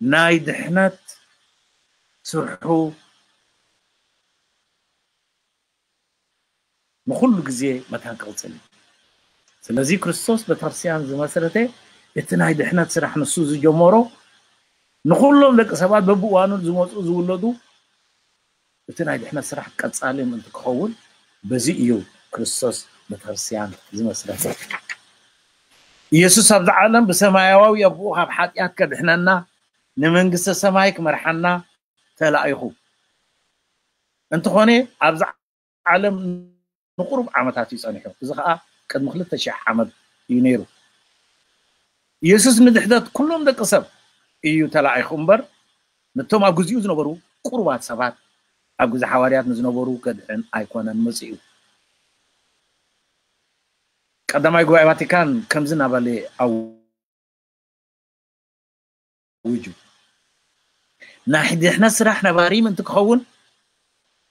ናይ ድሕነት ስርሑ ንኹሉ ግዜ መታን ክቕጽል እዩ። ስለዚ ክርስቶስ ቤተክርስትያን ዝመስረተ እቲ ናይ ድሕነት ስራሕ ንሱ ዝጀመሮ ንኹሎም ደቂ ሰባት በብእዋኑ ዝመፁ ዝውለዱ እቲ ናይ ድሕነት ስራሕ ቀጻሊ ምእንቲ ክኸውን በዚ እዩ ክርስቶስ ቤተክርስትያን ዝመስረተ። ኢየሱስ ኣብዚ ዓለም ብሰማያዊ ኣቦኡ ካብ ሓጢኣት ከድሕነና ንመንግስተ ሰማይ ክመርሓና ተላኢኹ። እንተኾነ ኣብዚ ዓለም ንቁሩብ ዓመታት እዩ ጸኒሑ። እዚ ኸኣ ቅድሚ ክልተ ሽሕ ዓመት እዩ ነይሩ። ኢየሱስ ንድሕነት ኩሎም ደቂ ሰብ እዩ ተላኢኹ እምበር ነቶም ኣብ ግዚኡ ዝነበሩ ቁሩባት ሰባት ኣብ ግዜ ሓዋርያት ንዝነበሩ ከድሕን ኣይኮነን መጺኡ። ቀዳማይ ጉባኤ ቫቲካን ከምዚ እናበለ ኣው ውጁ ናይ ድሕነት ስራሕ ነባሪ ምእንቲ ክኸውን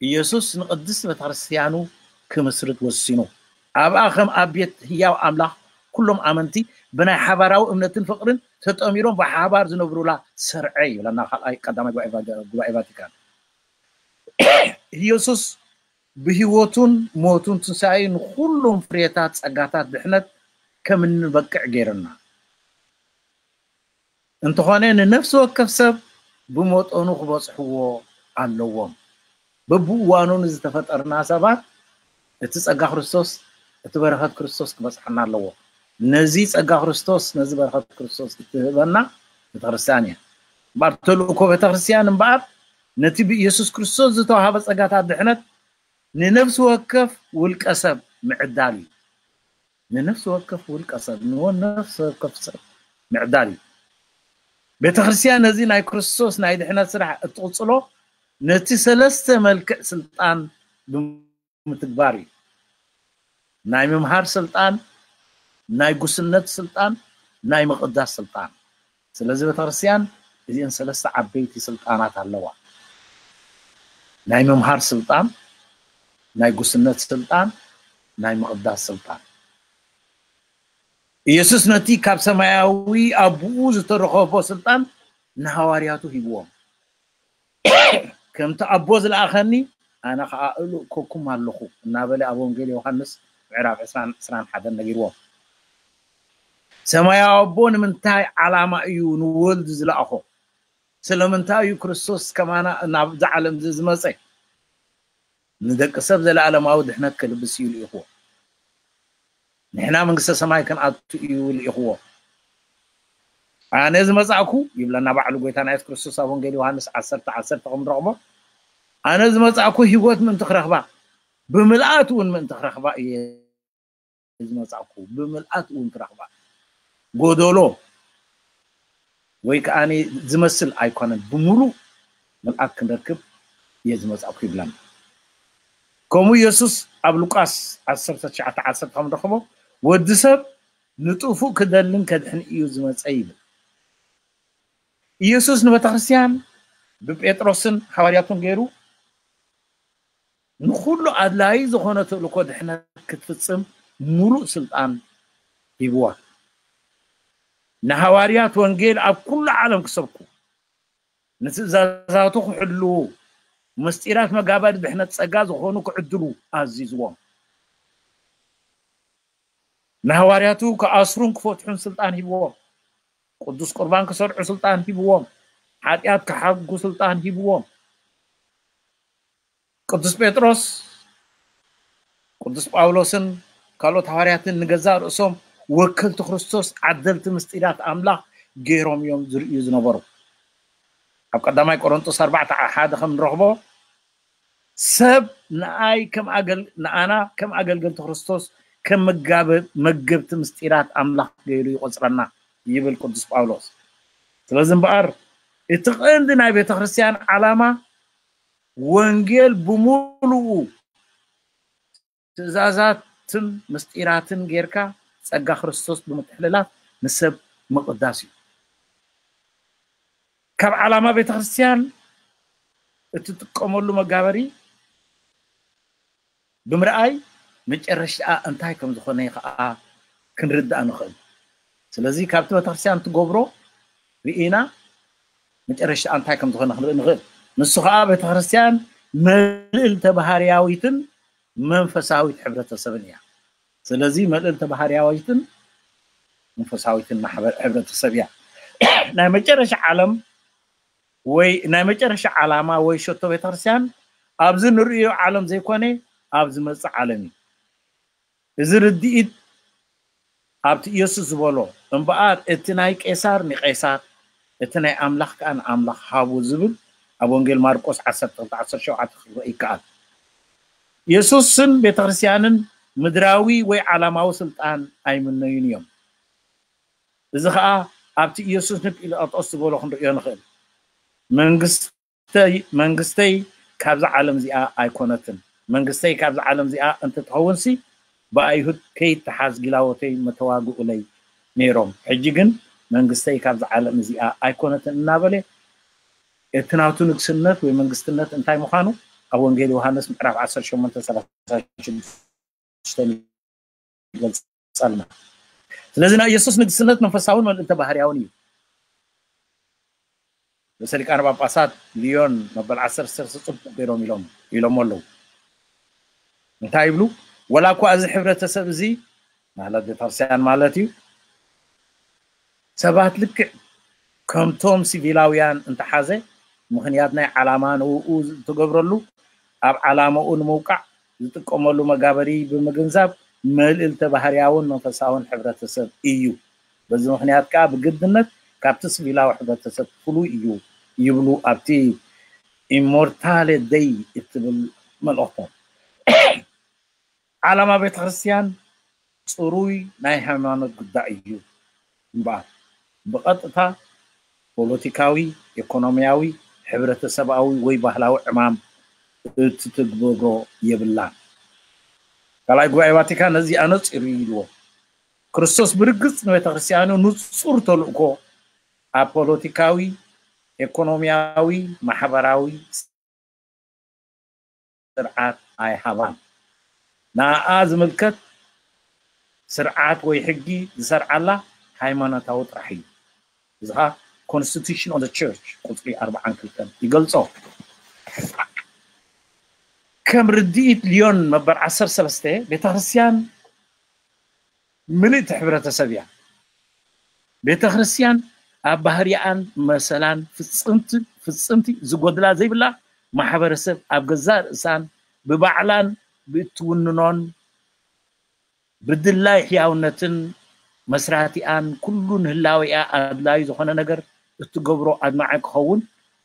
ኢየሱስ ንቅድስት ቤተክርስትያኑ ክምስርት ወሲኑ ኣብኣ ከም ኣብ ቤት ህያው ኣምላኽ ኩሎም ኣመንቲ ብናይ ሓባራዊ እምነትን ፍቅርን ተጠሚሮም ብሓባር ዝነብሩላ ሰርዐ ይብለና ካልኣይ ቀዳማይ ጉባኤ ቫቲካን። ኢየሱስ ብህይወቱን ሞቱን ትንሳኤ ንኩሎም ፍሬታት ጸጋታት ድሕነት ከም እንበቅዕ ገይርና እንተኾነ ንነፍሲ ወከፍ ሰብ ብመጠኑ ክበጽሕዎ ኣለዎም። በብእዋኑ ንዝተፈጠርና ሰባት እቲ ጸጋ ክርስቶስ እቲ በረኸት ክርስቶስ ክበጽሓና ኣለዎ። ነዚ ጸጋ ክርስቶስ ነዚ በረኸት ክርስቶስ እትህበና ቤተክርስትያን እያ። እምበኣር ተልእኮ ቤተክርስትያን እምበኣር ነቲ ብኢየሱስ ክርስቶስ ዝተዋሃበ ጸጋታት ድሕነት ንነፍሲ ወከፍ ውልቀ ሰብ ምዕዳል እዩ። ንነፍሲ ወከፍ ውልቀ ሰብ ንወ ነፍሲ ወከፍ ሰብ ምዕዳል እዩ። ቤተክርስትያን ነዚ ናይ ክርስቶስ ናይ ድሕነት ስራሕ እትቕጽሎ ነቲ ሰለስተ መልክዕ ስልጣን ብምትግባር እዩ። ናይ ምምሃር ስልጣን፣ ናይ ጉስነት ስልጣን፣ ናይ ምቕዳስ ስልጣን። ስለዚ ቤተክርስትያን እዚአን ሰለስተ ዓበይቲ ስልጣናት ኣለዋ። ናይ ምምሃር ስልጣን፣ ናይ ጉስነት ስልጣን፣ ናይ ምቕዳስ ስልጣን። ኢየሱስ ነቲ ካብ ሰማያዊ ኣቦኡ ዝተረኸቦ ስልጣን ንሃዋርያቱ ሂብዎም። ከምቲ ኣቦ ዝለኣኸኒ ኣነ ኸዓ እልእከኩም ኣለኹ እናበለ ኣብ ወንጌል ዮሃንስ ምዕራፍ ዕስራን ዕስራን ሓደን ነጊርዎም። ሰማያዊ ኣቦ ንምንታይ ዓላማ እዩ ንወልድ ዝለኣኾ? ስለምንታይ እዩ ክርስቶስ ከማና ናብዛ ዓለም እዚ ዝመፀ? ንደቂ ሰብ ዘለኣለማዊ ድሕነት ክልብስ እዩ ልኢኽዎ። ንሕና መንግስተ ሰማይ ክንኣቱ እዩ ልኢኽዎ። ኣነ ዝመጻእኩ ይብለና ባዕሉ ጎይታና የሱስ ክርስቶስ ኣብ ወንጌል ዮሃንስ ዓሰርተ ዓሰርተ ከም ንረኽቦ ኣነ ዝመጻእኩ ህይወት ምእንቲ ክረኽባ ብምልኣት እውን ምእንቲ ክረኽባ እየ ዝመጻእኩ ብምልኣት እውን ክረኽባ ጎደሎ ወይ ከዓ ዝመስል ኣይኮነን ብምሉእ ምልኣት ክንረክብ እየ ዝመጻእኩ ይብለና። ከምኡ ኢየሱስ ኣብ ሉቃስ ዓሰርተ ትሽዓተ ዓሰርተ ከም ንረኽቦ ወዲ ሰብ ንጥፉእ ክደልን ከድሕን እዩ ዝመጸ ይብል። ኢየሱስ ንቤተክርስትያን ብጴጥሮስን ሃዋርያቱን ገይሩ ንኹሉ ኣድላዪ ዝኾነ ተልእኮ ድሕነት ክትፍጽም ሙሉእ ስልጣን ሂብዋ። ንሃዋርያት ወንጌል ኣብ ኩሉ ዓለም ክሰብኩ ንትእዛዛቱ ክሕልዉ ምስጢራት መጋበሪ ድሕነት ጸጋ ዝኾኑ ክዕድሉ ኣዚዝዎም። ንሃዋርያቱ ክኣስሩን ክፈትሑን ስልጣን ሂብዎም። ቅዱስ ቁርባን ክሰርዑ ስልጣን ሂብዎም። ሓጢኣት ክሓጉ ስልጣን ሂብዎም። ቅዱስ ጴጥሮስ ቅዱስ ጳውሎስን ካልኦት ሃዋርያትን ንገዛእ ርእሶም ወከልቲ ክርስቶስ ዓደልቲ ምስጢራት ኣምላኽ ገይሮም እዮም ዝርእዩ ዝነበሩ። ኣብ ቀዳማይ ቆሮንጦስ ኣርባዕተ ሓደ ከም ንረኽቦ ሰብ ንኣይ ከም ኣገል ንኣና ከም ኣገልገልቲ ክርስቶስ ከም መጋበ መገብቲ ምስጢራት ኣምላኽ ገይሩ ይቆጽረና ይብል ቅዱስ ጳውሎስ። ስለዚ እምበኣር እቲ ቀንዲ ናይ ቤተ ክርስቲያን ዓላማ ወንጌል ብምሉኡ ትእዛዛትን ምስጢራትን ጌርካ ጸጋ ክርስቶስ ብምትሕልላፍ ንሰብ ምቕዳስ እዩ። ካብ ዓላማ ቤተ ክርስቲያን እትጥቀመሉ መጋበሪ ብምርኣይ መጨረሽታ እንታይ ከም ዝኾነ ከዓ ክንርዳእ ንኽእል። ስለዚ ካብቲ ቤተክርስትያን ትገብሮ ርኢና መጨረሻ እንታይ ከም ዝኾነ ክንርኢ ንኽእል። ንሱ ከዓ ቤተክርስትያን መልእልተ ባህርያዊትን መንፈሳዊት ሕብረተሰብን እያ። ስለዚ መልእልተ ባህርያዊትን መንፈሳዊትን ማሕበር ሕብረተሰብ እያ። ናይ መጨረሻ ዓለም ወይ ናይ መጨረሻ ዓላማ ወይ ሸቶ ቤተክርስትያን ኣብዚ ንርእዮ ዓለም ዘይኮነ ኣብ ዝመጽእ ዓለም እዩ። እዚ ርድኢት ኣብቲ ኢየሱስ ዝበሎ እምበኣር እቲ ናይ ቄሳር ንቄሳር እቲ ናይ ኣምላኽ ከኣ ንኣምላኽ ሃቡ ዝብል ኣብ ወንጌል ማርቆስ ዓሰርተ ክልተ ዓሰርተ ሸውዓተ ክረአ ይከኣል። ኢየሱስን ቤተክርስትያንን ምድራዊ ወይ ዓላማዊ ስልጣን ኣይምነዩን እዮም። እዚ ኸኣ ኣብቲ ኢየሱስ ንጲላጦስ ዝበሎ ክንርእዮ ንኽእል። መንግስተይ መንግስተይ ካብዛ ዓለም እዚኣ ኣይኮነትን። መንግስተይ ካብዛ ዓለም እዚኣ እንተትኸውንሲ ብኣይሁድ ከይተሓዝ ጊላዎተይ መተዋግኡለይ ነይሮም። ሕጂ ግን መንግስተይ ካብዛ ዓለም እዚኣ ኣይኮነትን እናበለ እቲ ናቱ ንግስነት ወይ መንግስትነት እንታይ ምዃኑ ኣብ ወንጌል ዮሃንስ ምዕራፍ ዓሰርተ ሸሞንተ ሰላሳ ሽዱሽተ ይገልጸልና። ስለዚ ናይ ኢየሱስ ንግስነት መንፈሳውን መልእልተ ባህርያውን እዩ። ርእሰ ሊቃነ ጳጳሳት ሊዮን መበል ዓሰርተ ሰለስተ ጽቡቕ ገይሮም ኢሎም ኢሎሞ ኣለዉ። እንታይ ይብሉ? ወላ እኳ እዚ ሕብረተሰብ እዚ ማለት ቤተክርስትያን ማለት እዩ ሰባት ልክዕ ከምቶም ሲቪላውያን እንተሓዘ ምኽንያት ናይ ዓላማ ንውኡ ዝተገብረሉ ኣብ ዓላማኡ ንምውቃዕ ዝጥቀመሉ መጋበሪ ብምግንዛብ መልእልተ ባህርያውን መንፈሳውን ሕብረተሰብ እዩ። በዚ ምኽንያት ከዓ ብግድነት ካብቲ ሲቪላዊ ሕብረተሰብ ፍሉይ እዩ ይብሉ ኣብቲ ኢሞርታሌ ደይ እትብል መልእኽቶም። ዓላማ ቤተ ክርስቲያን ጽሩይ ናይ ሃይማኖት ጉዳይ እዩ እምበኣር ብቐጥታ ፖለቲካዊ፣ ኢኮኖሚያዊ፣ ሕብረተሰብኣዊ ወይ ባህላዊ ዕማም እትትግበሮ የብላን። ካልኣይ ጉባኤ ቫቲካን ነዚ ኣነጺሩ ኢልዎ። ክርስቶስ ብርግጽ ንቤተ ክርስቲያኑ ንጹር ተልእኮ ኣብ ፖለቲካዊ፣ ኢኮኖሚያዊ፣ ማሕበራዊ ስርዓት ኣይሃባን። ንኣኣ ዝምልከት ስርዓት ወይ ሕጊ ዝሰርዓላ ሃይማኖታዊ ጥራሕ እዩ። እዚ ኸዓ Constitution of the Church ቁጽሪ ኣርባዓን ክልተን ይገልጾ። ከም ርድኢት ሊዮን መበል ዓሰርተ ሰለስተ ቤተክርስትያን ምልእቲ ሕብረተሰብ እያ። ቤተክርስትያን ኣብ ባህሪኣን መሰላን ፍጽምቲ ፍጽምቲ ዝጎድላ ዘይብላ ማሕበረሰብ ኣብ ገዛእ ርእሳን ብባዕላን ብእትውንኖን ብድላይ ሕያውነትን መስራቲኣን ኩሉ ንህላዌኣ ኣድላዩ ዝኾነ ነገር እትገብሮ ኣድማዒ ክኸውን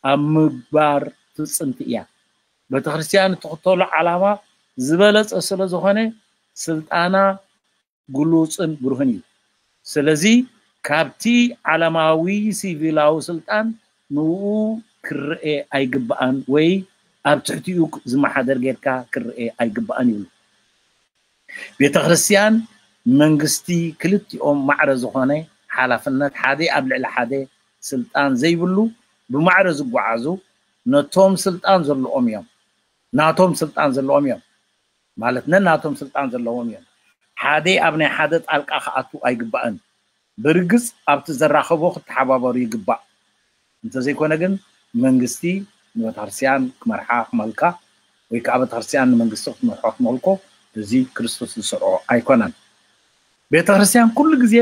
ኣብ ምግባር ፍጽምቲ እያ። ቤተክርስትያን እትኽተሎ ዓላማ ዝበለጸ ስለ ዝኾነ ስልጣና ግሉጽን ብሩህን እዩ። ስለዚ ካብቲ ዓለማዊ ሲቪላዊ ስልጣን ንኡ ክረኤ ኣይግባኣን ወይ ኣብ ትሕቲኡ ዝመሓደር ጌርካ ክረኤ ኣይግባኣን ይብሉ። ቤተ ክርስቲያን መንግስቲ ክልቲኦም ማዕረ ዝኾነ ሓላፍነት ሓደ ኣብ ልዕሊ ሓደ ስልጣን ዘይብሉ ብማዕረ ዝጓዓዙ ነቶም ስልጣን ዘለዎም እዮም ናቶም ስልጣን ዘለዎም እዮም ማለት ነናቶም ስልጣን ዘለዎም እዮም። ሓደ ኣብ ናይ ሓደ ጣልቃ ክኣቱ ኣይግባእን። ብርግጽ ኣብቲ ዘራኸቦ ክተሓባበሩ ይግባእ። እንተዘይኮነ ግን መንግስቲ ንቤተክርስትያን ክመርሓ ክመልካ ወይ ከዓ ቤተክርስትያን ንመንግስቲ ክትመርሖ ክትመልኮ እዚ ክርስቶስ ዝሰርዖ ኣይኮነን። ቤተክርስትያን ኩሉ ግዜ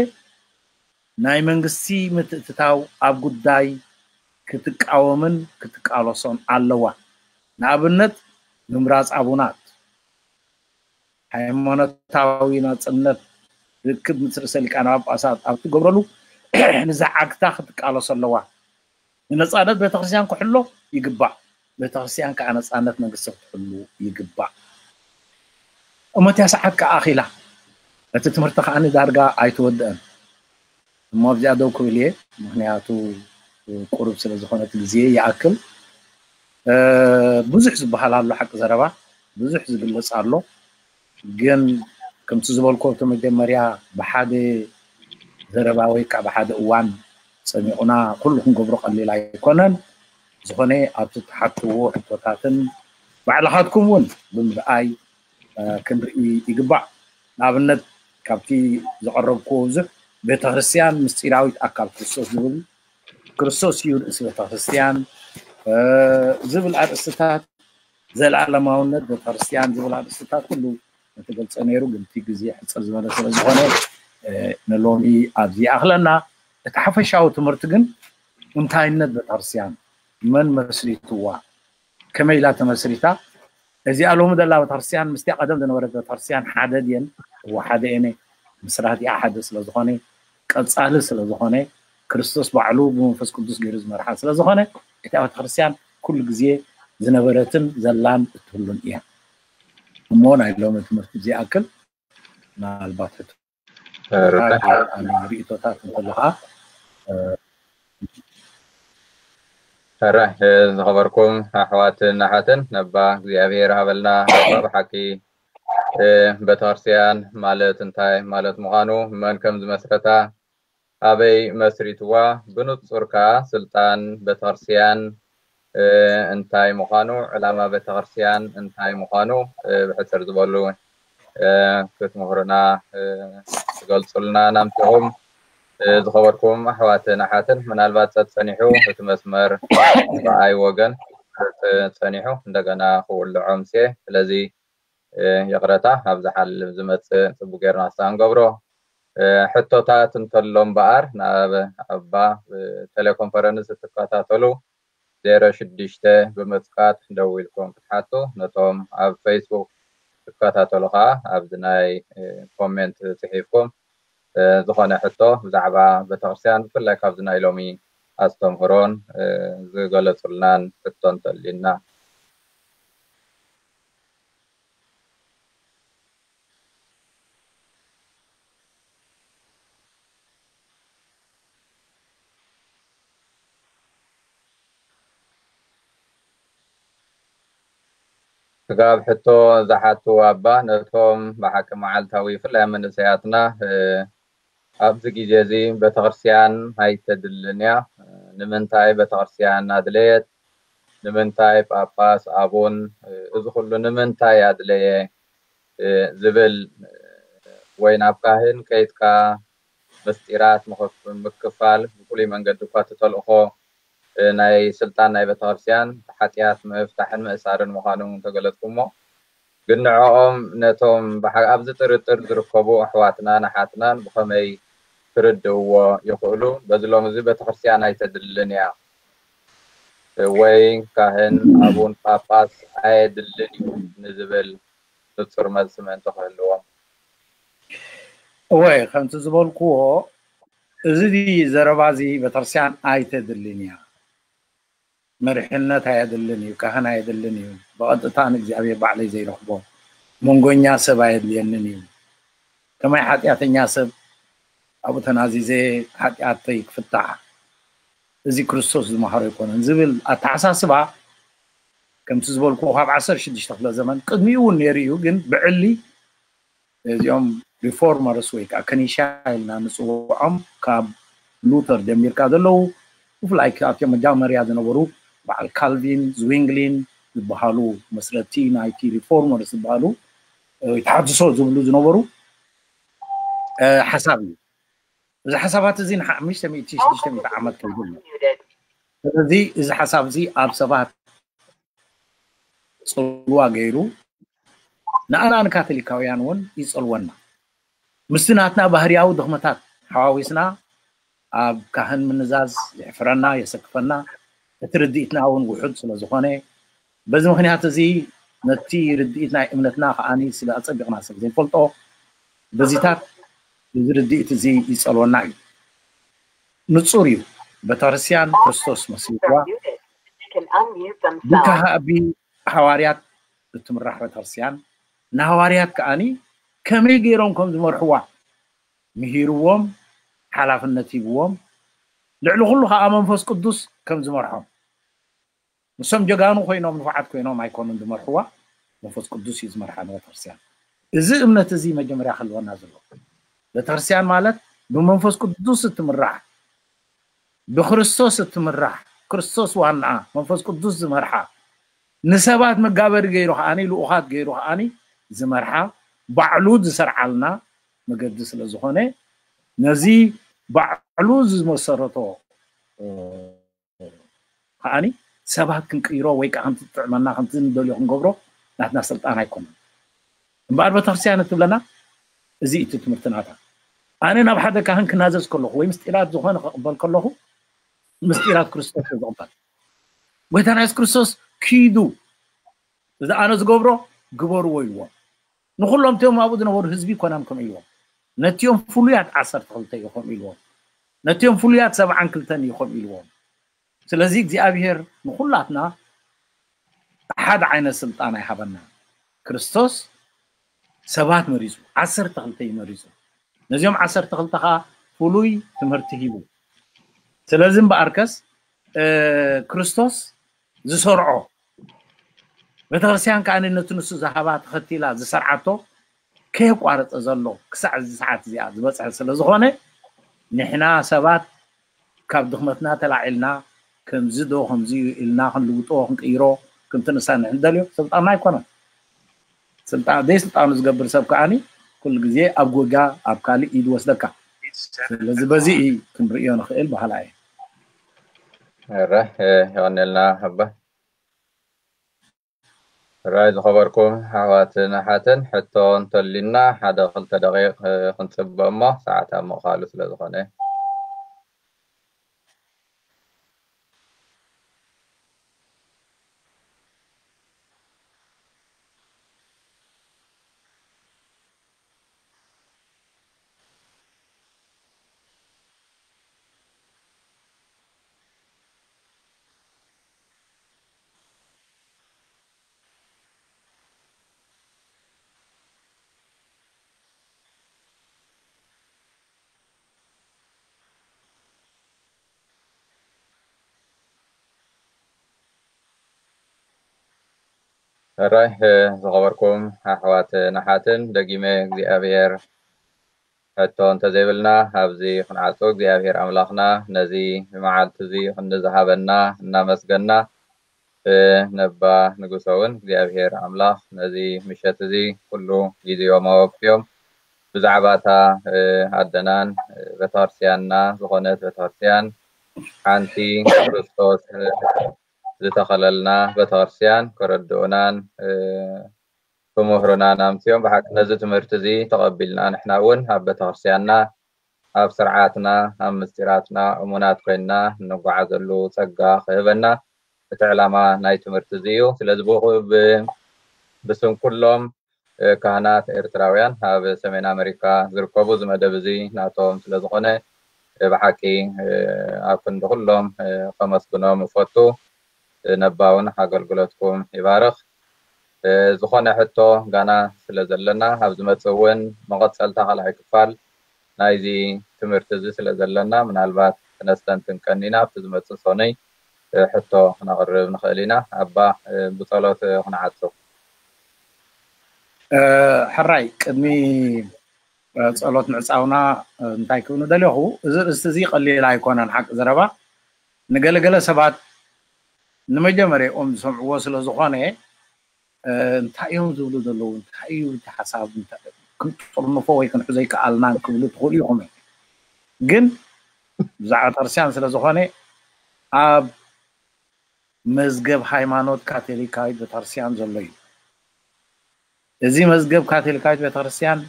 ናይ መንግስቲ ምትእትታው ኣብ ጉዳይ ክትቃወምን ክትቃለሶን ኣለዋ። ንኣብነት ምምራፅ ኣቡናት፣ ሃይማኖታዊ ናፅነት፣ ርክብ ምስ ርእሰ ሊቃነ ጳጳሳት ኣብ ትገብረሉ ንዝዓግታ ክትቃለሶ ኣለዋ። ንነፃነት ቤተክርስትያን ክሕሎ ይግባእ። ቤተክርስትያን ከዓ ነፃነት መንግስቲ ክትሕሉ ይግባእ። እሞ እቲያ ሰዓት ከዓ ኣኺላ። እቲ ትምህርቲ ከዓ ዳርጋ ኣይተወድአን። እሞ ኣብዚኣ ደው ክብል እየ፣ ምክንያቱ ቁሩብ ስለ ዝኾነ እቲ ግዜ ይኣክል። ብዙሕ ዝበሃል ኣሎ፣ ሓቂ ዘረባ ብዙሕ ዝግለፅ ኣሎ። ግን ከምቲ ዝበልኮ እቲ መጀመርያ ብሓደ ዘረባ ወይ ከዓ ብሓደ እዋን ፀሚቑና ኩሉ ክንገብሮ ቀሊል ኣይኮነን። ዝኾነ ኣብቲ እትሓትዎ ሕቶታትን ባዕልኻትኩም እውን ብምርኣይ ክንርኢ ይግባእ። ንኣብነት ካብቲ ዘቐረብክዎ ብዙሕ ቤተክርስትያን ምስጢራዊት ኣካል ክርስቶስ ዝብል ክርስቶስ እዩ ርእሲ ቤተክርስትያን ዝብል ኣርእስትታት፣ ዘለኣለማውነት ቤተክርስትያን ዝብል ኣርእስትታት ኩሉ ተገልጸ ነይሩ። ግን እቲ ግዜ ሕጽር ዝበለ ስለ ዝኾነ ንሎሚ ኣብዚ ይኣኽለና። እቲ ሓፈሻዊ ትምህርቲ ግን እንታይነት ቤተክርስትያን፣ መን መስሪትዋ፣ ከመይ ኢላ ተመስሪታ፣ እዚኣ ሎሚ ዘላ ቤተክርስትያን ምስቲ ቀደም ዝነበረት ቤተክርስትያን ሓደ ድየን? እወ ሓደ እየን። ምስራቲኣ ሓደ ስለ ዝኾነ፣ ቀጻሊ ስለ ዝኾነ፣ ክርስቶስ ባዕሉ ብመንፈስ ቅዱስ ገይሩ ዝመርሓ ስለ ዝኾነ፣ እታ ቤተክርስትያን ኩሉ ግዜ ዝነበረትን ዘላን እትህሉን እያ። እሞ ናይ ሎሚ ትምህርቲ እዚ ይኣክል። ምናልባት ሕቶ ርዳእ። ሪእቶታት እንተሎ ከዓ ሕራይ ዝኸበርኩም ኣሕዋትን ኣሓትን፣ ነባ እግዚኣብሔር ሃበልና። ነባ ብሓቂ ቤተክርስትያን ማለት እንታይ ማለት ምዃኑ፣ መን ከም ዝመስረታ፣ ኣበይ መስሪትዋ፣ ብንጹር ከኣ ስልጣን ቤተክርስትያን እንታይ ምዃኑ፣ ዕላማ ቤተክርስትያን እንታይ ምዃኑ ብሕጽር ዝበሉ ክትምህሩና ትገልጹልና ናምትኹም። ዝኸበርኩም ኣሕዋትን ኣሓትን፣ ምናልባት ጸጸኒሑ እቲ መስመር ብኣይ ወገን ጸኒሑ እንደገና ክውልዖም ስየ። ስለዚ ይቕረታ፣ ኣብ ዝሓልፍ ዝመጽእ ጽቡቅ ጌርና ክሳብ ንገብሮ። ሕቶታት እንተሎ እምበኣር ናብ ኣባ ብቴሌኮንፈረንስ እትከታተሉ ዜሮ ሽዱሽተ ብምጽቃጥ ደው ኢልኩም ክትሓቱ፣ ነቶም ኣብ ፌስቡክ ትከታተሉ ከዓ ኣብዚ ናይ ኮሜንት ጽሒፍኩም ዝኾነ ሕቶ ብዛዕባ ቤተክርስትያን ብፍላይ ካብዚ ናይ ሎሚ ኣስተምህሮን ዝገለጹልናን ሕቶ እንተልዩና። ስጋብ ሕቶ ዝሓቱ ኣባ፣ ነቶም ብሓቂ መዓልታዊ ብፍላይ ኣብ መንእሰያትና ኣብዚ ግዜ እዚ ቤተክርስትያን ኣይተድልን እያ፣ ንምንታይ ቤተክርስትያን ኣድለየት፣ ንምንታይ ጳጳስ፣ ኣቡን፣ እዚ ኩሉ ንምንታይ ኣድለየ ዝብል ወይ ናብ ካህን ከይድካ ምስጢራት ምክፋል ብፍሉይ መንገዲ እኳ እቲ ተልእኾ ናይ ስልጣን ናይ ቤተክርስትያን ሓጢኣት ምፍታሕን ምእሳርን ምዃኑ ተገለጽኩሞ። ግን ንዕኦም ነቶም ኣብዚ ጥርጥር ዝርከቡ ኣሕዋትናን ኣሓትናን ብኸመይ ክርድእዎ ይኽእሉ? በዚ ሎሚ እዚ ቤተክርስትያን ኣይተድልን እያ ወይ ካህን ኣቡን ጳጳስ ኣየድልን እዩ ንዝብል ንጹር መልሲ ምእንቲ ክህልዎም። እወ፣ ከምቲ ዝበልክዎ እዚ ዘረባ እዚ ቤተክርስትያን ኣይተድልን እያ፣ መሪሕነት ኣየድልን እዩ፣ ካህን ኣየድልን እዩ፣ ብቐጥታ ንእግዚኣብሔር ባዕለይ ዘይረኽቦ መንጎኛ ሰብ ኣየድልየንን እዩ። ከማይ ሓጢኣተኛ ሰብ ኣብኡ ተናዚዘ ሓጢኣተይ ክፍታሕ፣ እዚ ክርስቶስ ዝመሃሮ ኣይኮነን ዝብል ኣተሓሳስባ ከምቲ ዝበልኩ ካብ ዓሰርተ ሽዱሽተ ክፍለ ዘመን ቅድሚኡ እውን ነይሩ እዩ። ግን ብዕሊ እዚኦም ሪፎርመርስ ወይ ከዓ ከኒሻ ኢልና ንፅውዖም ካብ ሉተር ጀሚርካ ዘለዉ ብፍላይ ካብቶም መጃመርያ ዝነበሩ በዓል ካልቪን ዝዊንግሊን ዝበሃሉ መስረቲ ናይቲ ሪፎርመርስ ዝበሃሉ ወይ ተሓድሶ ዝብሉ ዝነበሩ ሓሳብ እዩ። እዚ ሓሳባት እዚ ንሓሙሽተ ሚእቲ ሽዱሽተ ሚእቲ ዓመት ከይዱ ኣሎ። ስለዚ እዚ ሓሳብ እዚ ኣብ ሰባት ጽልዋ ገይሩ ንኣና ንካቶሊካውያን እውን ይጸልወና። ምስቲ ናትና ባህርያዊ ድኽመታት ሓዋዊስና ኣብ ካህን ምንዛዝ የሕፍረና፣ የሰክፈና። እቲ ርድኢትና እውን ውሑድ ስለ ዝኾነ በዚ ምኽንያት እዚ ነቲ ርድኢት ናይ እምነትና ከዓኒ ስለ ኣጸቢቕና ስለ ዘይንፈልጦ በዚታት እዚ ርድኢት እዚ ይጸልወና እዩ። ንጹር እዩ። ቤተክርስትያን ክርስቶስ መስልዋ ብካሃቢ ሃዋርያት እትምራሕ ቤተክርስትያን ንሃዋርያት ከዓኒ ከመይ ገይሮም ከም ዝመርሕዋ ምሂርዎም ሓላፍነት ሂብዎም ልዕሊ ኩሉ ከዓ መንፈስ ቅዱስ ከም ዝመርሖም ንሶም ጀጋኑ ኮይኖም ንፉዓት ኮይኖም ኣይኮኑን ዝመርሕዋ መንፈስ ቅዱስ እዩ ዝመርሓ ንቤተክርስትያን እዚ እምነት እዚ መጀመርያ ክህልወና ዘለዎ ቤተክርስትያን ማለት ብመንፈስ ቅዱስ እትምራሕ ብክርስቶስ እትምራሕ ክርስቶስ ዋናኣ መንፈስ ቅዱስ ዝመርሓ ንሰባት መጋበሪ ገይሩ ከዓኒ ልኡኻት ገይሩ ከዓኒ ዝመርሓ ባዕሉ ዝሰርዓልና መገዲ ስለ ዝኾነ ነዚ ባዕሉ ዝመሰረቶ ከዓኒ ሰባት ክንቅይሮ ወይ ከዓ ከምቲ ዝጥዕመና ከምቲ ንደልዮ ክንገብሮ ናትና ስልጣን ኣይኮነን። እምበኣር ቤተክርስትያን እትብለና እዚ እቲ ትምህርቲ ናታ። ኣነ ናብ ሓደ ካህን ክናዘዝ ከለኹ ወይ ምስጢራት ዝኾነ ክቕበል ከለኹ ምስጢራት ክርስቶስ እየ ዝቕበል። ጎይታና የሱስ ክርስቶስ ኪዱ እዚ ኣነ ዝገብሮ ግበርዎ ኢልዎም። ንኩሎም እቲኦም ኣብኡ ዝነበሩ ህዝቢ ኮናም ከም ኢልዎም፣ ነቲኦም ፍሉያት ዓሰርተ ክልተ ኢኹም ኢልዎም፣ ነቲኦም ፍሉያት ሰብዓን ክልተን ኢኹም ኢልዎም። ስለዚ እግዚኣብሔር ንኩላትና ሓደ ዓይነት ስልጣን ኣይሃበና። ክርስቶስ ሰባት መሪጹ፣ ዓሰርተ ክልተ እዩ መሪጹ። ነዚኦም ዓሰርተ ክልተ ከዓ ፍሉይ ትምህርቲ ሂቡ። ስለዚ እምበኣርከስ ክርስቶስ ዝሰርዖ ቤተክርስትያን ከዓ ነቲ ንሱ ዝሃባ ተኸቲላ ዝሰርዓቶ ከየቋረፀ ዘሎ ክሳዕ እዚ ሰዓት እዚኣ ዝበፅሐ ስለ ዝኾነ ንሕና ሰባት ካብ ድኽመትና ተላዒልና ከምዚ ዶ ከምዚ እዩ ኢልና ክንልውጦ ክንቅይሮ ክንትንሳ ንሕንደልዮ ስልጣንና ኣይኮነን። ስልጣን ዘይስልጣኑ ዝገብር ሰብ ከዓኒ ኩሉ ግዜ ኣብ ጎጋ ኣብ ካልእ ኢድ ወስደካ። ስለዚ በዚ እዩ ክንርእዮ ንኽእል በሃላ እየ። ረ የቐነልና ኣባ ራይ ዝኸበርኩም ኣሕዋትን ኣሓትን ሕቶ እንተሊና ሓደ ክልተ ደቂቕ ክንፅበ እሞ ሰዓት ኣብ ምቕፋሉ ስለ ዝኾነ ሕራይ ዝኸበርኩም ኣሕዋትን ኣሓትን ደጊመ እግዚኣብሔር ሕቶ እንተዘይብልና ኣብዚ ክንዓጾ እግዚኣብሔር ኣምላኽና ነዚ መዓልቲ እዚ ክንዝሃበና እናመስገና ነባ ንጉሰ እውን እግዚኣብሔር ኣምላኽ ነዚ ምሸት እዚ ኩሉ ግዜኦም ኣወፍዮም ብዛዕባ እታ ኣደናን ቤተክርስትያንና ዝኾነት ቤተክርስትያን ሓንቲ ክርስቶስ ዝተኸለልና ቤተክርስትያን ከረድኡናን ክምህሩናን ኣምፅኦም ብሓቂ ነዚ ትምህርቲ እዚ ተቐቢልና ንሕና እውን ኣብ ቤተክርስትያንና ኣብ ስርዓትና ኣብ ምስጢራትና እሙናት ኮይንና እንጓዓዘሉ ፀጋ ክህበና እቲ ዕላማ ናይ ትምህርቲ እዚ እዩ። ስለዚ ብስም ኩሎም ካህናት ኤርትራውያን ኣብ ሰሜን ኣመሪካ ዝርከቡ እዚ መደብ እዚ ናቶም ስለዝኾነ ብሓቂ ኣብ ክንዲ ኩሎም ከመስግኖም እፈቱ። ነባውን ኣገልግሎትኩም ይባርኽ። ዝኾነ ሕቶ ጋና ስለ ዘለና ኣብ ዝመፅእ እውን መቐፀልታ ካልኣይ ክፋል ናይዚ ትምህርቲ እዚ ስለ ዘለና ምናልባት ክነስተንትን ቀኒና ኣብቲ ዝመፅእ ሰኑይ ሕቶ ክነቕርብ ንኽእል ኢና። ኣባ ብፀሎት ክንዓጹ። ሕራይ ቅድሚ ፀሎት ምዕፃውና እንታይ ክብሉ ደለኹ፣ እዚ ርእስቲ እዚ ቀሊል ኣይኮነን። ሓቂ ዘረባ ንገለገለ ሰባት ንመጀመርያኦም ዝሰምዕዎ ስለ ዝኾነ እንታይ እዮም ዝብሉ ዘለዉ፣ እንታይ እዩ እቲ ሓሳብ፣ ክንጥርንፎ ወይ ክንሕዞ ይከኣልናን ክብሉ ትኽእሉ ኢኹም። ግን ብዛዕባ ቤተክርስትያን ስለ ዝኾነ ኣብ መዝገብ ሃይማኖት ካቶሊካዊት ቤተክርስትያን ዘሎ እዩ። እዚ መዝገብ ካቶሊካዊት ቤተክርስትያን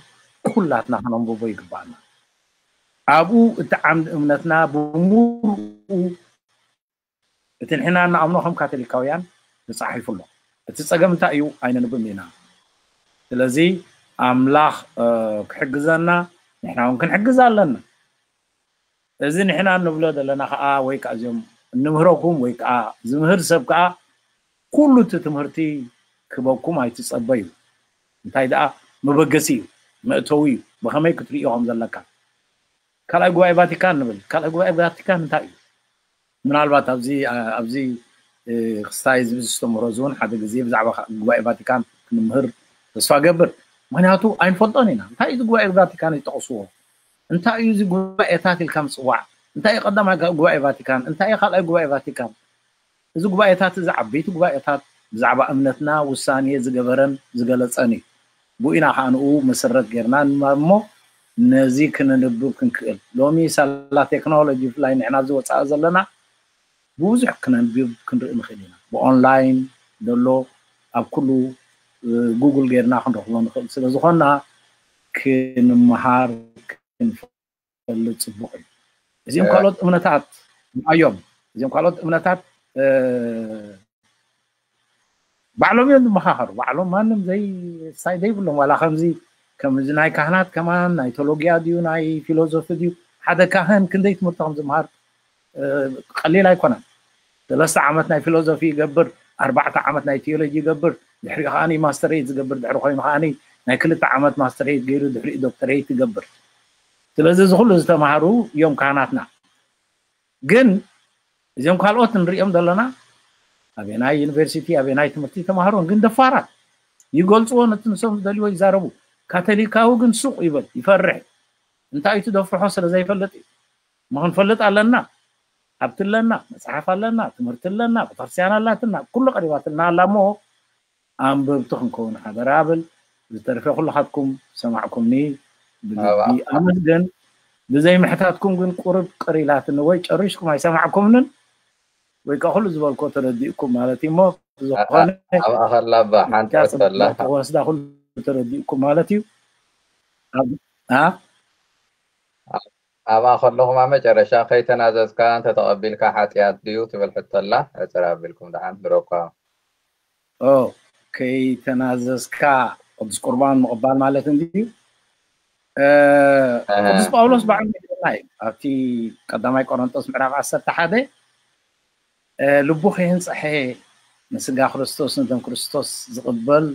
ኩላትና ከነንብቦ ይግባኣና። ኣብኡ እቲ ዓምዲ እምነትና ብምሉኡ እቲ ንሕና እንኣምኖ ከም ካቶሊካውያን ተፃሒፉ ኣሎ። እቲ ፀገም እንታይ እዩ? ኣይነንብብን ኢና። ስለዚ ኣምላኽ ክሕግዘና ንሕና እውን ክንሕግዝ ኣለና። እዚ ንሕና እንብሎ ዘለና ከዓ ወይ ከዓ እዚኦም እንምህረኩም ወይ ከዓ ዝምህር ሰብ ከዓ ኩሉ እቲ ትምህርቲ ክበኩም ኣይትፀበዩ። እንታይ ደኣ መበገሲ እዩ፣ መእተዊ እዩ። ብኸመይ ክትርእዮ ከም ዘለካ ካልኣይ ጉባኤ ቫቲካን ንብል። ካልኣይ ጉባኤ ቫቲካን እንታይ እዩ? ምናልባት ኣብዚ ኣብዚ ክስታይ ዝብዝስተምሮ እውን ሓደ ግዜ ብዛዕባ ጉባኤ ቫቲካን ክንምህር ተስፋ ገብር። ምክንያቱ ኣይንፈልጦን ኢና። እንታይ እዩ ጉባኤ ቫቲካን ይጠቕስዎ? እንታይ እዩ እዚ ጉባኤታት ኢልካ ምፅዋዕ? እንታይ እዩ ቀዳማይ ጉባኤ ቫቲካን? እንታይ እዩ ካልኣይ ጉባኤ ቫቲካን? እዚ ጉባኤታት እዚ ዓበይቲ ጉባኤታት ብዛዕባ እምነትና ውሳኔ ዝገበረን ዝገለፀን እዩ። ብኡ ኢና ከዓ ንኡ መሰረት ጌርና ንማር እሞ ነዚ ክንንብብ ክንክእል። ሎሚ ሳላ ቴክኖሎጂ ብፍላይ ንሕና ኣብዚ ወፃኢ ዘለና ብብዙሕ ክነንብብ ክንርኢ ንኽእል ኢና። ብኦንላይን ዘሎ ኣብ ኩሉ ጉግል ጌርና ክንረኽቦ ንኽእል ስለ ዝኾንና ክንመሃር ክንፈልጥ ፅቡቕ እዩ። እዚኦም ካልኦት እምነታት እዮም። እዚኦም ካልኦት እምነታት ባዕሎም እዮም ዝመኻኸሩ። ባዕሎም ማንም ዘይ ሳይ ዘይብሎም ዋላ ከምዚ ከምዚ ናይ ካህናት ከማን ናይ ቴሎጊያ ድዩ ናይ ፊሎዞፊ ድዩ ሓደ ካህን ክንደይ ትምህርቲ ከም ዝመሃር ቀሊል ኣይኮነን። ሰለስተ ዓመት ናይ ፊሎዞፊ ይገብር፣ ኣርባዕተ ዓመት ናይ ቴዎሎጂ ይገብር፣ ድሕሪኡ ከዓኒ ማስተሬት ዝገብር ድሕሪ ኮይኑ ከዓኒ ናይ ክልተ ዓመት ማስተሬት ገይሩ ድሕሪኡ ዶክተሬት ይገብር። ስለዚ እዚ ኩሉ ዝተማሃሩ እዮም ካህናትና። ግን እዚኦም ካልኦት ንሪኦም ዘለና ኣበናይ ዩኒቨርሲቲ ኣበናይ ትምህርቲ ተማሃሮን ግን ደፋራት ይገልፅዎ ነቲ ንሶም ዝደልይዎ ይዛረቡ። ካቶሊካዊ ግን ሱቕ ይበል ይፈርሕ። እንታይ እዩ ትደፍርሖ ስለ ዘይፈልጥ እዩ። ምኽንፈልጥ ኣለና። ሃብቲ ኣለና፣ መፅሓፍ ኣለና፣ ትምህርቲ ኣለና፣ ቤተክርስትያን ኣላትና፣ ኩሉ ቀሪባትልና ኣላ እሞ ኣንበብቲ ክንከውን ሓደራ እብል። ዝተረፈ ኩልኻትኩም ሰማዕኩምኒ ብልቢ ኣመስግን። ብዘይ ምሕታትኩም ግን ቁርብ ቅር ኢላትኒ ወይ ጨሪሽኩም ኣይሰማዕኩምንን ወይ ከዓ ኩሉ ዝበልኮ ተረዲእኩም ማለት እዩ እሞ ብዝኾነ ኣብ ኣኸላ ባ ሓንቲ ሕቶ ኣላ። ወስዳ ኩሉ ተረዲእኩም ማለት እዩ። ኣብ- አ? ኣብኣ ከለኹም ኣብ መጨረሻ ከይተናዘዝካ እንተተቐቢልካ ሓጢኣት ድዩ ትብል ሕቶ ኣላ። ዕፅር ኣቢልኩም ደሓን ንረኳ። ኦ፣ ከይተናዘዝካ ቅዱስ ቁርባን ምቕባል ማለት እንድዩ። እ፣ ቅዱስ ጳውሎስ ባዕሉ ይብለና እዩ ኣብቲ ቀዳማይ ቆሮንጦስ ምዕራፍ ዓሰርተ ሓደ እ፣ ልቡ ከየንጽሐ ንስጋ ክርስቶስ ንደም ክርስቶስ ዝቕበል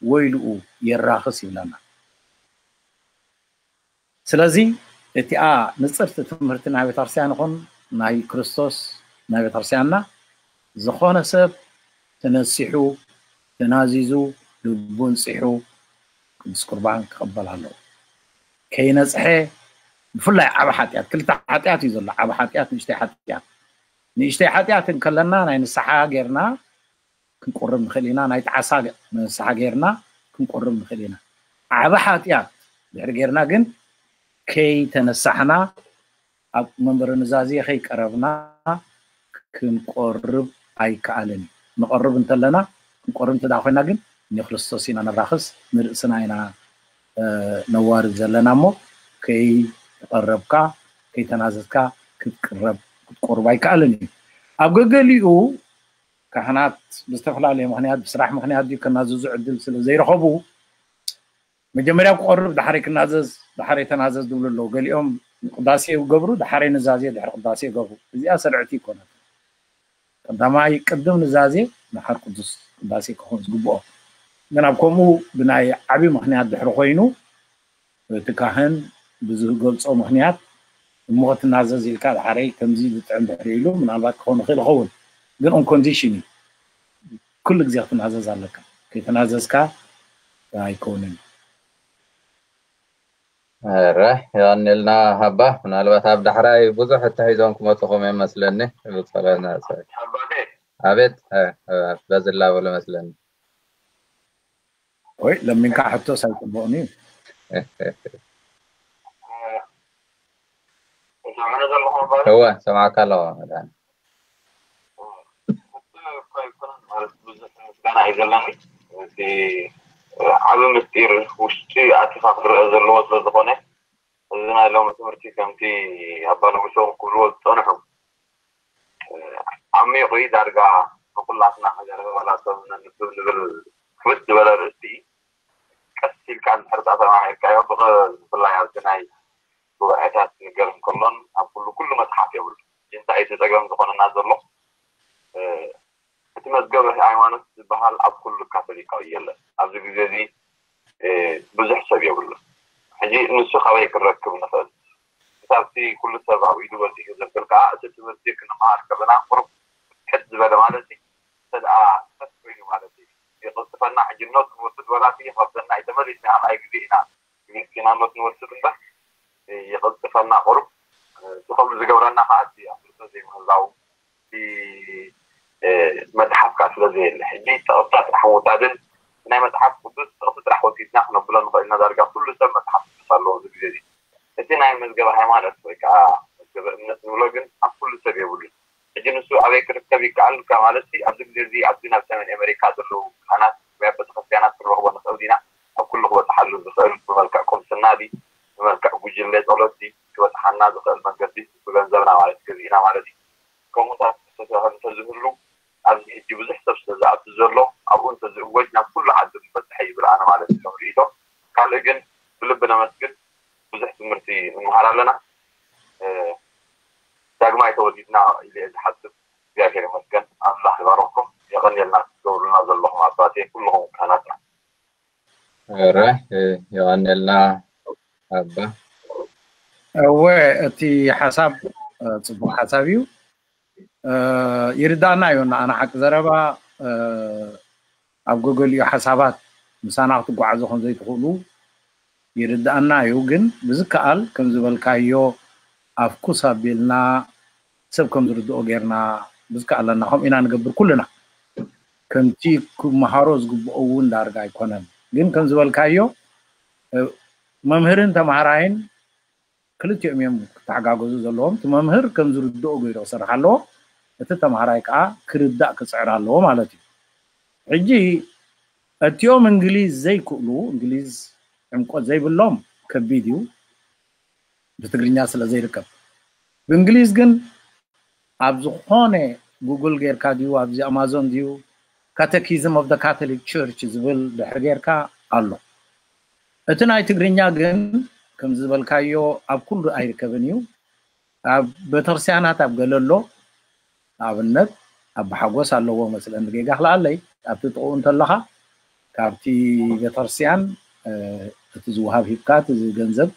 ወይልኡ የራኽስ ይብለና። ስለዚ እቲኣ ንጽርቲ ትምህርቲ ናይ ቤተክርስትያን ይኹን ናይ ክርስቶስ ናይ ቤተክርስትያንና ዝኾነ ሰብ ተነሲሑ ተናዚዙ ልቡ ንጺሑ ቅዱስ ቁርባን ክቕበል ኣለዎ። ከይነጽሐ ብፍላይ ዓቢ ሓጢኣት ክልተ ሓጢኣት እዩ ዘሎ። ዓቢ ሓጢኣት ንእሽተይ ሓጢኣት ንእሽተይ ሓጢኣት እንከለና ናይ ንስሓ ጌርና ክንቆርብ ንኽእል ኢና። ናይ ጣዕሳ ንስሓ ጌርና ክንቆርብ ንኽእል ኢና። ዓቢ ሓጢኣት ድሕሪ ጌርና ግን ከይተነሳሕና ኣብ መንበረ ኑዛዜ ከይቀረብና ክንቆርብ ኣይከኣልን እዩ። ንቐርብ እንተለና ክንቆርብ እንተ ኮይና ግን ንክርስቶስ ኢና ነራኽስ ንርእስና ኢና ነዋርድ ዘለና እሞ ከይተቐረብካ ከይተናዘዝካ ክትቅረብ ክትቆርብ ኣይከኣልን እዩ። ኣብ ገገሊኡ ካህናት ብዝተፈላለየ ምክንያት ብስራሕ ምክንያት ድዩ ከናዝዙ ዕድል ስለ ዘይረኸቡ መጀመርያ ክቆርብ ዳሕረይ ክናዘዝ ዳሕረይ ተናዘዝ ዝብሉ ኣለዉ። ገሊኦም ቅዳሴ ይገብሩ ዳሕረይ ንዛዜ ድሕሪ ቅዳሴ ይገብሩ። እዚኣ ስርዕቲ ይኮነት። ቀዳማይ ቅድም ንዛዜ ንሓር ቅዱስ ቅዳሴ ክኾን ዝግብኦ ግን ኣብ ከምኡ ብናይ ዓብዪ ምክንያት ድሕሪ ኮይኑ እቲ ካህን ብዝገልፆ ምክንያት እሞ ክትናዘዝ ኢልካ ዳሕረይ ከምዚ ዝጥዕም ድሕሪ ኢሉ ምናልባት ክኸውን ይኽእል ይኸውን ግን on condition እዩ። ኩሉ ግዜ ክትናዘዝ ኣለካ። ከይተናዘዝካ ኣይከውንን። ረ የቐኒልና ሃባ ምናልባት ኣብ ዳሕራይ ብዙሕ እተሒዞም ክመፅኹም እዮም መስለኒ። ብፀሎና ኣቤት በዚ ላበሉ መስለኒ። ወይ ለሚንካ ሕቶስ ኣይፅቡቕን እዩ። እወ ሰማዕካ ኣለኹ። ብዙሕ ምስጋና እዩ ዘለኒ። እቲ ዓቢ ምስጢር ውሽጢ ኣቲኻ ክረአ ዘለዎ ስለ ዝኾነ እዚ ናይ ሎሚ ትምህርቲ ከምቲ ኣባ ንጉሶም ክብልዎ ዝጸንሑ ዓሚቑ እዩ። ዳርጋ ንኹላትና ሃገር ዋላ ሰብ ነንብብ ንብል ክብድ ዝበለ ኣርእስቲ እዩ። ቀስ ኢልካ እንድሕር ተማሂርካዮ ብፍላይ ኣብዚ ናይ ጉባኤታት ክነገር እንከሎን ኣብ ኩሉ ኩሉ መፅሓፍ የብሉ። እንታይ እቲ ፀገም ዝኾነና ዘሎ እቲ መዝገበ ሃይማኖት ዝበሃል ኣብ ኩሉ ካቶሊካዊ የለን። ኣብዚ ግዜ እዚ ብዙሕ ሰብ የብሉን። ሕጂ ንሱ ካበይ ክንረክብ ንኽእል? ክሳብቲ ኩሉ ሰብ ኣብ ኢዱ በፂሑ ዘብል ከዓ እቲ ትምህርቲ ክንመሃር ከለና ቁሩብ ሕድ ዝበለ ማለት እዩ። እንተ ደኣ ቀስ ኮይኑ ማለት እዩ። የቐልጥፈና ሕጂ ኖት ክንወስድ ወላ እቲ ይኸብደና እዩ። ተመሊስና ካልኣይ ግዜ ኢና ግዜ ኖት ንወስድ እምበር የቐልጥፈና ቁሩብ። እቲ ከምኡ ዝገብረና ከዓ እቲ ኣፍልጦ ዘይምህላው እቲ መፅሓፍ ከዓ ስለ ዘየለ ሕጂ ፀቕጥታ ጥራሕ ምውሳድን ናይ መፅሓፍ ቅዱስ ጥቕሲ ጥራሕ ወሲድና ክነብሎ ንኽእል ኢና። ዳርጋ ኩሉ ሰብ መፅሓፍ ቅዱስ ኣለዎ እዚ ግዜ እዚ። እቲ ናይ መዝገበ ሃይማኖት ወይ ከዓ መዝገበ እምነት ንብሎ ግን ኣብ ኩሉ ሰብ የብሉን። ሕጂ ንሱ ኣበይ ሰብ ይከኣል ማለት ኣብዚ ግዜ እዚ ኣብዚ ናብ ሰሜን ኣሜሪካ ዘለዉ ካህናት ወይ ኣብ ቤተክርስትያናት ክንረኽቦ ንኽእል ዲና? ኣብ ኩሉ ክበፅሓሉ ዝኽእል ብመልክዕ ቁምስና ድዩ፣ ብመልክዕ ጉጅለ ጸሎት ድዩ ክበፅሓና ዝኽእል መንገዲ ብገንዘብና ማለት ገዚእና ማለት እዩ። ከምኡታት እንተዝህሉ ኣብዚ ሕጂ ብዙሕ ሰብ ስለ ዝኣቱ ዘሎ ኣብኡ እንተዝእወጅ ናብ ኩሉ ዓዲ ምበፅሐ ይብል ኣነ ማለት እዩ ሪኢቶ። ካልእ ግን ብልቢ ነመስግን። ብዙሕ ትምህርቲ ንምሃር ኣለና። ዳግማይ ተወሊድና ኢለ ዝሓስብ። እግዚኣብሔር ይመስገን። ኣምላኽ ይባርኽኩም። የቐንየልና ክትገብሩልና ዘለኹም ኣባቴ ኩልኹም ካህናትና። ረ የቐንየልና ኣባ። እወ እቲ ሓሳብ ጽቡቅ ሓሳብ እዩ። ይርዳእና እዩ። ኣነ ሓቂ ዘረባ ኣብ ገገሊኡ ሓሳባት ምሳና ክትጓዓዙ ከም ዘይትኽእሉ ይርዳእና እዩ። ግን ብዝከኣል ከም ዝበልካዮ ኣፍኩስ ኣቢልና ሰብ ከም ዝርድኦ ጌርና ብዝከኣለና ከምኡ ኢና ንገብር ኩልና። ከምቲ ክመሃሮ ዝግብኦ እውን ዳርጋ ኣይኮነን። ግን ከም ዝበልካዮ መምህርን ተማሃራይን ክልቲኦም እዮም ክተሓጋገዙ ዘለዎም። እቲ መምህር ከም ዝርድኦ ገይሩ ክሰርሕ ኣለዎ፣ እቲ ተማሃራይ ከዓ ክርዳእ ክፅዕር ኣለዎ ማለት እዩ። ሕጂ እቲኦም እንግሊዝ ዘይክእሉ፣ እንግሊዝ ዕምቆት ዘይብሎም ከቢድ እዩ፣ ብትግርኛ ስለ ዘይርከብ። ብእንግሊዝ ግን ኣብ ዝኾነ ጉግል ጌርካ ድዩ ኣብዚ ኣማዞን ድዩ Catechism of the Catholic Church ዝብል ድሕሪ ጌርካ ኣሎ። እቲ ናይ ትግርኛ ግን ከም ዝበልካዮ ኣብ ኩሉ ኣይርከብን እዩ። ኣብ ቤተክርስትያናት ኣብ ገለ ኣሎ። ንኣብነት ኣባ ሓጎስ ኣለዎ መስለኒ ጌጋ ክልኣለይ ኣብቲ ጥቕኡ እንተለኻ ካብቲ ቤተክርስትያን እቲ ዝወሃብ ሂብካ እቲ ገንዘብ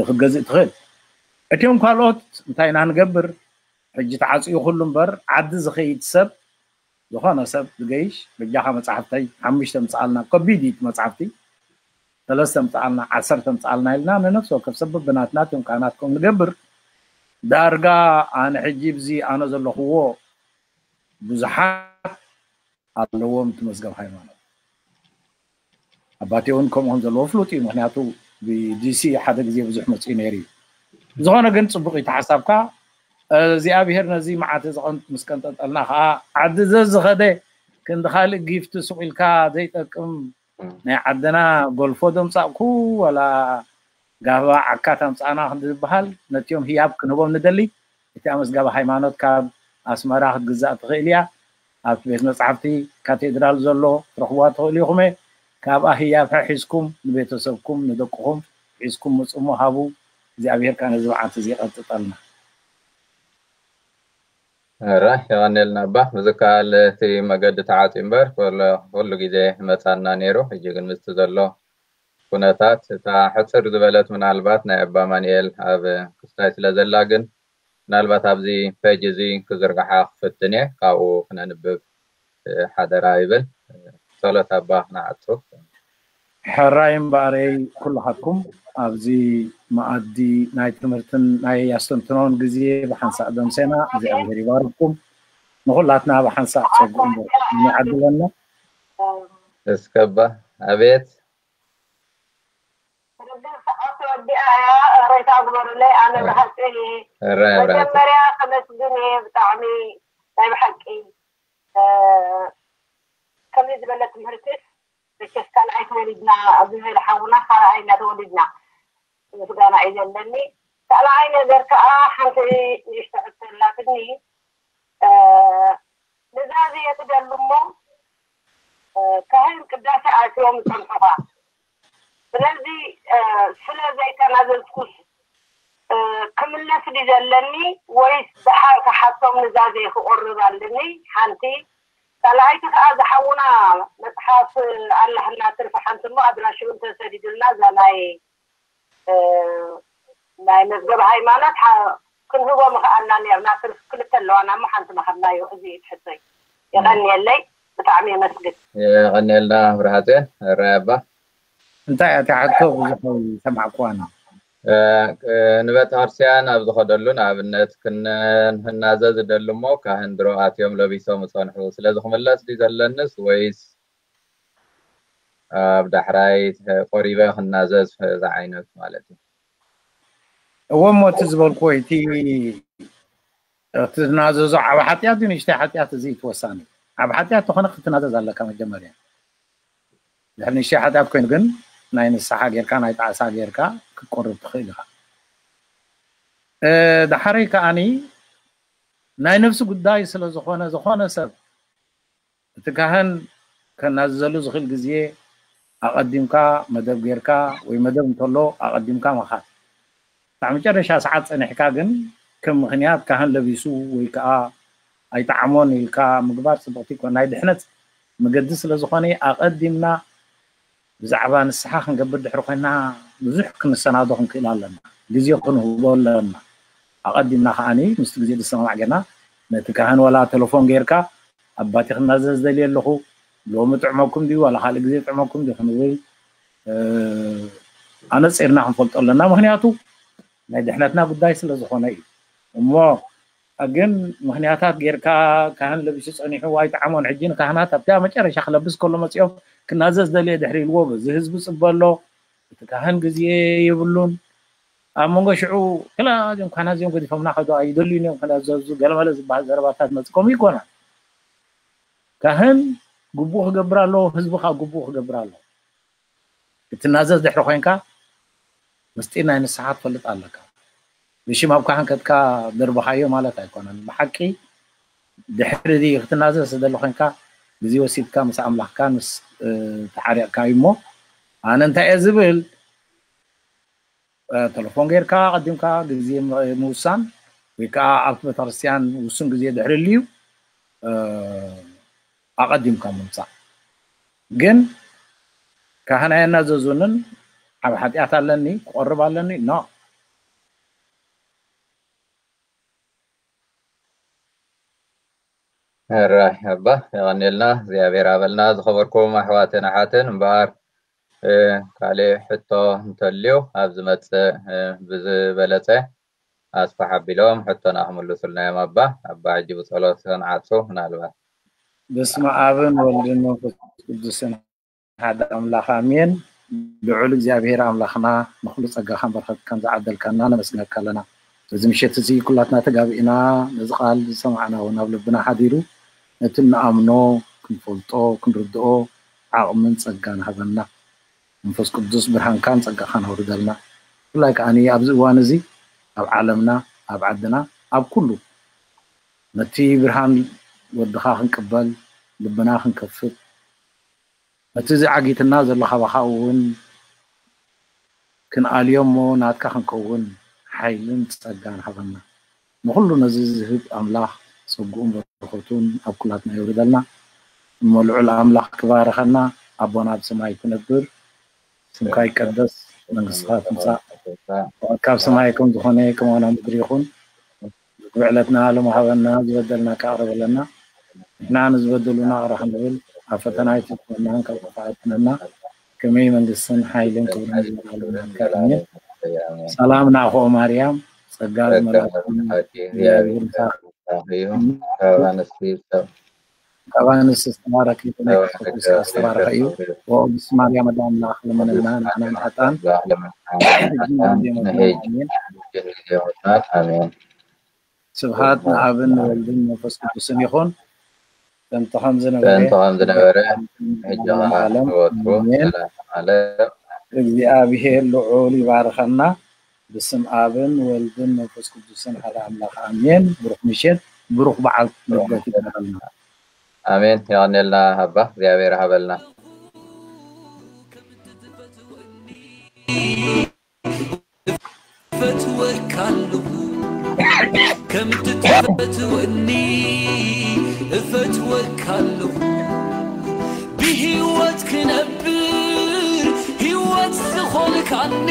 ክትገዝእ ትኽእል። እቲኦም ካልኦት እንታይ ኢና ንገብር? ሕጂ ተዓፅዩ ኩሉ እምበር ዓዲ ዝኸይድ ሰብ ዝኾነ ሰብ ዝገይሽ በጃኻ መፅሓፍተይ ሓሙሽተ ምፅኣልና ከቢድ እዩ እቲ መፅሓፍቲ ሰለስተ ምፅኣልና ዓሰርተ ምፅኣልና ኢልና ንነፍሲ ወከፍ ሰብ በብናትና እቲኦም ካህናት ከም ንገብር ዳርጋ ኣነ ሕጂ ብዚ ኣነ ዘለኽዎ ብዙሓት ኣለዎም እቲ መዝገብ ሃይማኖት ኣባቴ እውን ከምኡ ከም ዘለዎ ፍሉጥ እዩ ምክንያቱ ብዲሲ ሓደ ግዜ ብዙሕ መፅኡ ነይሩ እዩ ዝኾነ ግን ፅቡቅ እዩ ተሓሳብካ እግዚኣብሔር ነዚ መዓት እዚ ምስ ቀንጠጠልና ከዓ ዓዲ ዘዝኸደ ክንዲ ካልእ ጊፍቲ ሱቅ ኢልካ ዘይጠቅም ናይ ዓድና ጎልፎ ደምፃእኩ ዋላ ጋህባ ዓካ ታምፃእና ክንዲ ዝበሃል ነቲኦም ህያብ ክንህቦም ንደሊ እቲኣ መዝገበ ሃይማኖት ካብ ኣስመራ ክትግዛእ ትኽእል እያ ኣብቲ ቤት መፅሓፍቲ ካቴድራል ዘሎ ትረኽብዋ ትኽእሉ ኢኹም ካብኣ ህያብ ሒዝኩም ንቤተሰብኩም ንደቅኹም ሒዝኩም ምፁ እሞ ሃቡ እግዚኣብሔር ከዓ ነዚ መዓልቲ እዚ ይቐጥጠልና ረ የቐንየልና ኣባ ብዝከኣል እቲ መገዲ ተዓፅዩ እምበር ኩሉ ግዜ መፃና ነይሩ ሕጂ ግን ምስቲ ዘሎ ኩነታት እታ ሕፅር ዝበለት ምናልባት ናይ ኣባ ማንኤል ኣብ ክስታይ ስለ ዘላ ግን ምናልባት ኣብዚ ፔጅ እዚ ክዝርግሓ ክፍትን እየ ካብኡ ክነንብብ ሓደራ ይብል ጸሎት ኣባ ክነዓጹ ሕራይ እምበኣረይ ኩልኻትኩም ኣብዚ መኣዲ ናይ ትምህርትን ናይ ኣስተንትኖን ግዜ ብሓንሳእ ደምሴና እግዚኣብሔር ይባርኩም ንኩላትና ብሓንሳእ ጸጉ እምበር ይዓድለና እስከባ ኣቤት ወዲኣ እያ ሬታ ግበሩለይ ኣነ ብሓቂ መጀመርያ ከመስግን እየ ብጣዕሚ ናይ ብሓቂ ከምዚ ዝበለ ትምህርትስ መቸስ ካልኣይ ተወሊድና ኣብዚ ዝበለ ሓውና ካልኣይ እናተወሊድና ምስጋና እዩ ዘለኒ ካልኣይ ነገር ከዓ ሓንቲ ንእሽቶ ሕቶ ኣላትኒ ንዛዚ የትደሉ እሞ ካህን ቅዳሴ ኣትዮም ይፀንሑኻ ስለዚ ስለ ዘይተናዘዝኩስ ክምለስ ድዩ ዘለኒ ወይስ ደሓር ክሓቶም ንዛዜ ክቆርብ ኣለኒ ሓንቲ ካልኣይቲ ከዓ ዝሓውና መፅሓፍ ኣላህና ትርፊ ሓንቲ እሞ ኣድራሽኡ እንተሰዲዱልና እዛ ናይ ናይ መዝገብ ሃይማኖት ክንህቦ ምኽኣልና ነርና ትርፊ ክልተ ኣለዋና እሞ ሓንቲ መሃብናዮ እዚ እዩ ትሕቶይ የቐንየለይ ብጣዕሚ የመስግን የቐንየልና ብርሃፅዮን ራይ ኣባ እንታይ እያ ትሓቶ ብዙሕ ሰማዕኩዋና ንቤተ ክርስቲያን ኣብ ዝኸደሉ ንኣብነት ክንህናዘ ዝደሊ እሞ ካህን ድሮ ኣትዮም ለቢሶም ዝፀንሑ ስለዚ ክምለስ ድዩ ዘለንስ ወይስ ኣብ ዳሕራይ ቆሪበ ክናዘዝ ዝዓይነት ማለት እዩ እዎ እሞ እቲ ዝበልኩዎ እቲ እቲ ዝናዘዞ ዓብ ሓጢኣት እዩ ንእሽተይ ሓጢኣት፣ እዚ እዩ እቲ ወሳኒ። ዓብ ሓጢኣት ተኾነ ክትናዘዝ ኣለካ መጀመርያ። ድሕሪ ንእሽተይ ሓጢኣት ኮይኑ ግን ናይ ንስሓ ጌርካ ናይ ጣዕሳ ጌርካ ክትቆርብ ትኽእል ኢኻ። ዳሓረይ ከዓኒ ናይ ነፍሲ ጉዳይ ስለ ዝኾነ፣ ዝኾነ ሰብ እቲ ካህን ከናዝዘሉ ዝኽእል ግዜ ኣቐዲምካ መደብ ጌርካ ወይ መደብ እንተሎ ኣቐዲምካ ምኻድ። ክሳዕ መጨረሻ ሰዓት ጸኒሕካ ግን ከም ምኽንያት ካህን ለቢሱ ወይ ከዓ ኣይጠዓሞን ኢልካ ምግባር ጽብቕቲ ይኮን። ናይ ድሕነት መገዲ ስለ ዝኾነ ኣቐዲምና ብዛዕባ ንስሓ ክንገብር ድሕሪ ኮይና ብዙሕ ክንሰናዶ ክንክእል ኣለና። ግዜ ክንህቦ ኣለና። ኣቐዲምና ከዓኒ ምስቲ ግዜ ዝሰማማዕ ጌርና ነቲ ካህን ዋላ ቴሌፎን ጌርካ ኣባቲ ክናዘዝ ደልየ ኣለኹ፣ ሎሚ ጥዕመኩም ድዩ ዋላ ካልእ ግዜ ጥዕመኩም ድዩ ክንብል ኣነጺርና ክንፈልጦ ኣለና። ምክንያቱ ናይ ድሕነትና ጉዳይ ስለ ዝኾነ እዩ። እሞ ግን ምክንያታት ጌርካ ካህን ለቢሱ ጸኒሑ ኣይጠዓሞን። ሕጂ ንካህናት ኣብቲ መጨረሻ ክለብስ ከሎ መጺኦም ክናዘዝ ደልየ ድሕሪ ኢልዎ በዚ ህዝቢ ጽበ ኣሎ፣ እቲ ካህን ግዜ የብሉን። ኣብ መንጎ ሽዑ ክላ እዚኦም ካህናት እዚኦም ገዲፎምና ከዶ ኣይደልዩን እዮም ክናዘዙ ገለመለ ዝበሃል ዘረባታት መጽ ከምኡ ይኮና። ካህን ግቡእ ክገብር ኣለዎ፣ ህዝቢ ከዓ ግቡእ ክገብር ኣለዎ። ክትናዘዝ ድሕሪ ኮይንካ ምስጢር ናይ ንስሓ ትፈልጥ ኣለካ። ብሽም ኣብ ካህን ከድካ ደርብኻዮ ማለት ኣይኮነን። ብሓቂ ድሕሪ ክትናዘዝ ስለ ዘሎ ኮይንካ ግዜ ወሲድካ ምስ ኣምላኽካ ምስ ተሓሪቕካ እዩ። እሞ ኣነ እንታይ እየ ዝብል፣ ተለፎን ጌርካ ኣቐዲምካ ግዜ ምውሳን ወይ ከዓ ኣብቲ ቤተክርስትያን ውሱን ግዜ ድሕሪ ልዩ ኣቐዲምካ ምምፃእ። ግን ካህን ኣየናዘዙንን ኣብ ሓጢኣት ኣለኒ ክቆርብ ኣለኒ ኖ። ሕራይ ኣባ የቐንየልና እግዚኣብሔር ኣበልና። ዝኸበርኩም ኣሕዋትን ኣሓትን እምበኣር ካልእ ሕቶ እንተልዩ ኣብ ዝመፅእ ብዝበለፀ ኣስፋሕ ኣቢሎም ሕቶና ክምልሱልና እዮም። ኣባ ኣባ ሕጂ ብፀሎት ከንዓፁ ምናልባት በስመ ኣብን ወልድን መንፈስ ቅዱስን ሓደ ኣምላኽ ኣሜን። ልዑል እግዚኣብሔር ኣምላኽና ንኹሉ ጸጋኻን በረኸትካን ዝዓደልካና ነመስግነካ ኣለና። በዚ ምሸት እዚ ኩላትና ተጋቢእና ነዚ ቃል ዝሰማዕና እውን ኣብ ልብና ሓዲሩ ነቲ እንኣምኖ ክንፈልጦ ክንርድኦ ዓቕምን ጸጋን ሃበና። መንፈስ ቅዱስ ብርሃንካን ጸጋኻን ኣውርደልና። ብፍላይ ከዓኒ ኣብዚ እዋን እዚ ኣብ ዓለምና ኣብ ዓድና ኣብ ኩሉ ነቲ ብርሃን ወድኻ ክንቅበል ልብና ክንከፍት ነቲ እዚ ዓጊትና ዘሎ ካባኻ እውን ክንኣልዮ እሞ ናትካ ክንከውን ሓይልን ጸጋን ሃበና። ንኹሉ ነዚ ዝህብ ኣምላኽ ጸግኡን በረኸቱን ኣብ ኩላትና የውርደልና። እሞ ልዑል ኣምላኽ ክባርኸና። ኣቦና ኣብ ሰማይ ትነብር፣ ስምካ ይቀደስ፣ መንግስትኻ ትምጻእ፣ ፍቓድካ ኣብ ሰማይ ከም ዝኾነ ከማና ምድሪ ይኹን። ዕለትና ሎም ሃበና፣ ዝበደልና ከቕርበለና፣ ንሕና ንዝበደሉና ቅረ ክንብል፣ ኣብ ፈተና ኣይትእትወና፣ ካብ ክፉእ ኣድሕነና። ከመይ መንግስትን ሓይልን ክብርን ንዘለኣለሙ ናትካ እዩ። ኣሜን። ሰላም ናኹኦ ማርያም፣ ጸጋ ዝመልኣኪ እግዚኣብሔር ምሳኺ እዩ። ካብ ኣንስቲ ዝተባረከ ይኹን፣ መንፈስ ቅዱስ ዝተባረከ እዩ። ኦ ቅድስት ማርያም ኣደ ኣምላኽ ለምንና ንዓና ንሓጣን ሕጂ ንግዜ ሞትና። ኣሜን። ኣሜን። ስብሐት ንኣብን ንወልድን መንፈስ ቅዱስን ይኹን። ጥንቲ ከም ዝነበረ ጥንቲ ከም ዝነበረ ሕጂ ከዓ ወትሩ ዘላለም ዓለም። እግዚኣብሔር ልዑል ይባርኸና። ብስም ኣብን ወልድን መንፈስ ቅዱስን ሓደ ኣምላኽ ኣሜን። ብሩኽ ምሸት፣ ብሩኽ በዓል ልደት ይግበረልና። ኣሜን። የቐኔልና ኣባ እግዚኣብሔር ሃበልና። እፈትወካ ኣለኹ ከምቲ ትፈትወኒ እፈትወካ ኣለኹ ብህይወት ክነብር ህይወት ዝኾንካኒ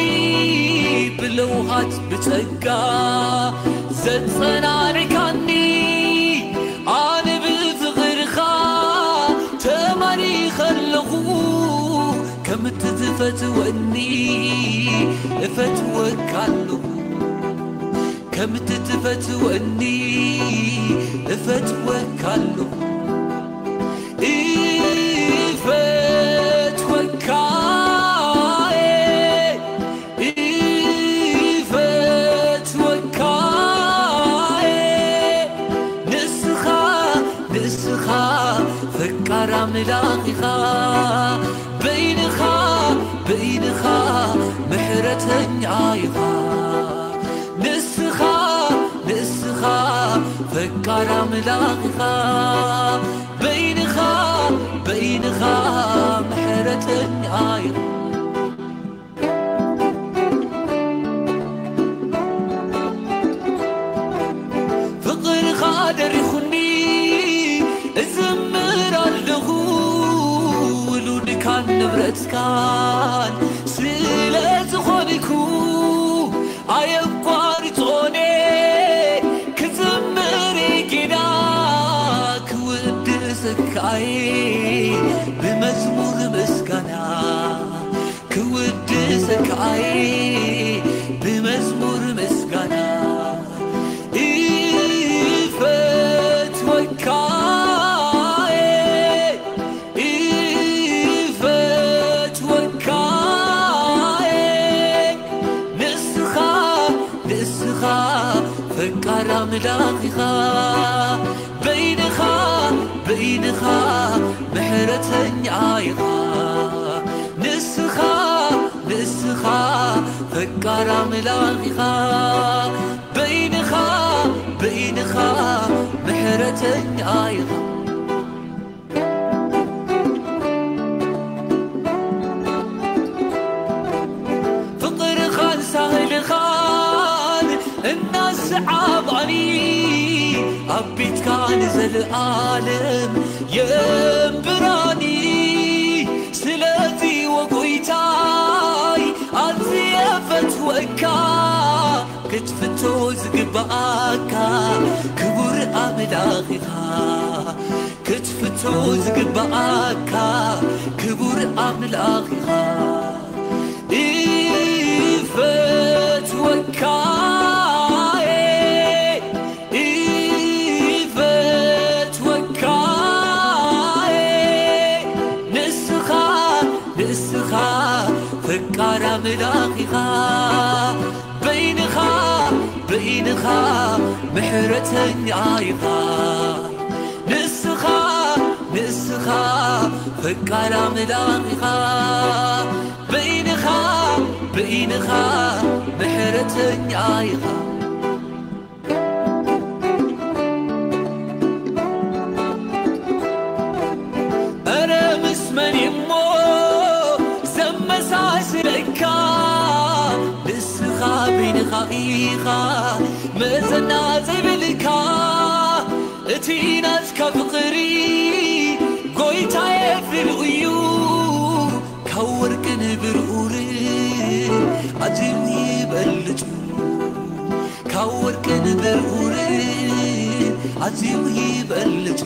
ብለውሃት ብጸጋ ዘጸናንዕካኒ ኣነ ብፍቕርኻ ተማሪኸ ኣለኹ ከምቲ ትፈትወኒ እፈትወካ ኣለኹ ከምቲ ትፈትወኒ እፈትወካ ኣለኹ እፈትወካ እፈትወካ ፈቃር ኣምላኽ ኢኻ፣ በይንኻ፣ በይንኻ ምሕረተኛ ኢኻ። ንስኻ፣ ንስኻ ፈቃር ኣምላኽ ኢኻ፣ በይንኻ፣ በይንኻ ምሕረተኛ ኢኻ። ፍቕርኻ ደሪኹኒ እዝምር ኣለኹ፣ ውሉድካን ንብረትካን ስለ ዝኾንኩ ኣየቋርጾን ክዝምር ጌና ክውድሰካይ ብመዝሙር ምስጋና። ክውድሰካይ ብመዝሙር ምስጋና። ይፈትወካየ፣ ይፈትወካየ። ንስኻ፣ ንስኻ ፈቃር ኣምላኽ ኢኻ። በይንኻ፣ በይንኻ ምሕረተኛ ኢኻ። ንስኻ፣ ንስኻ ፈቃር ኣምላኽ ኢኻ። በይንኻ፣ በይንኻ ምሕረተኛ ኢኻ። ፍቕርኻን ሳህልኻን እናሰዓባኒ ኣብ ቤትካ ንዘለኣለም የንብራኒ። ስለዚ ወጎይታይ ኣዝየ ፈትወካ፣ ክትፍቶ ዝግባኣካ ክቡር ኣምላኽ ኢኻ። ክትፍቶ ዝግባኣካ ክቡር ኣምላኽ ኢኻ። ይፈትወካየ፣ ይፈትወካየ። ንስኻ፣ ንስኻ ፈቃር ኣምላኽ ኢኻ። በይንኻ፣ በይንኻ ምሕረተኛ ኢኻ። ንስኻ፣ ንስኻ ፈቃር ኣምላኽ ኢኻ። በይንኻ፣ በይንኻ ምሕረተኛ ኢኻ። እረ ምስ መን እሞ ዘመሳስለካ? ንስኻ በይንኻ ኢኻ መዘና ዘይብልካ። እቲ ናትካ ፍቕሪ ጎይታየ ፍሉይ እዩ፣ ካብ ወርቅን ብርኡርን ኣዝዩ ይበልጽ። ካብ ወርቅን ብርኡርን ኣዝዩ ይበልጽ።